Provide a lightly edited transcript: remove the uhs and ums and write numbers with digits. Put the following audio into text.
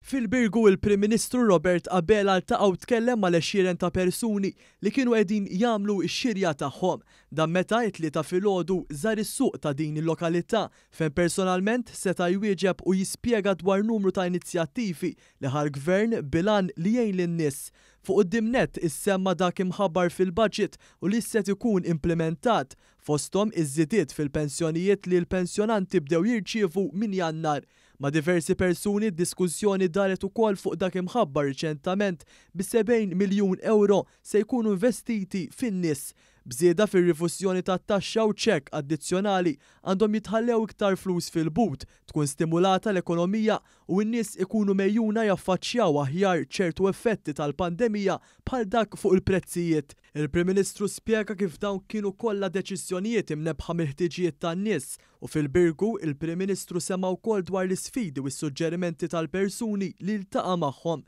Fil-Birgu il-Prim Ministru Robert Abela ltaqa' u tkellem mal-għexieren ta' persuni li kienu qegħdin jagħmlu x-xirja tagħhom. Dan meta it-Tlieta filgħodu żar is-suq ta' din il-lokalità fejn personalment seta' jwieġeb u jispjega dwar numru ta' inizjattivi li ħa l-Gvern bil-għan li jgħin lin-nies. Fuq quddiem nett issemma dak imħabbar fil-budget u li set ikun implimentat, fosthom iż-żidiet fil-pensjonijiet li l-pensjonanti bdew jirċievu minn Jannar. Ma' diversi persuni d-diskussjoni daret ukoll fuq dak imħabbar riċentament bi 70 miljun ewro se jkunu investiti fin-nies. B'żieda fir-rifużjoni tat-taxxa u ċekk addizzjonali għandhom jitħallew iktar flus fil-but, tkun stimulata l-ekonomija u n-nies ikunu megħjuna jaffaċċjaw aħjar ċertu effetti tal-pandemija bħal dak fuq il-prezzijiet. Il-Prim Ministru spjega kif dawn kienu kollha deċiżjonijiet imnebbħa mill-ħtiġijiet tan-nies u fil-Birgu il-Prim Ministru sema' wkoll dwar l-isfidi u s-suġġerimenti tal-persuni li ltaqa' magħhom.